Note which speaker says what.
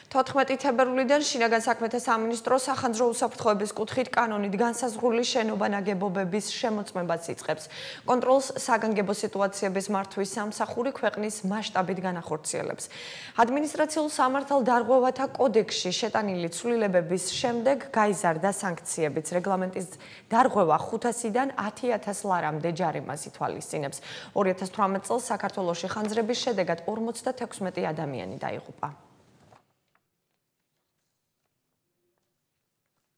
Speaker 1: 14 თებერვლიდან შინაგან საქმეთა სამინისტრო სახანძრო უსაფრთხოების კუთხით კანონით განსაზღვრული შენობა-ნაგებობების შემოწმებას იწყებს. კონტროლს საგანგებო სიტუაციების მართვის სამსახური ქვეყნის მასშტაბით განახორციელებს. ადმინისტრაციულ სამართალდარღვევათა კოდექსში შეტანილი ცვლილებების შემდეგ გაიზარდა სანქციებიც. რეგლამენტის დარღვევა 500-დან 10,000 ლარამდე ჯარიმას ითვალისწინებს. 2018 წელს საქართველოში ხანძრების შედეგად 56 ადამიანი დაიღუპა.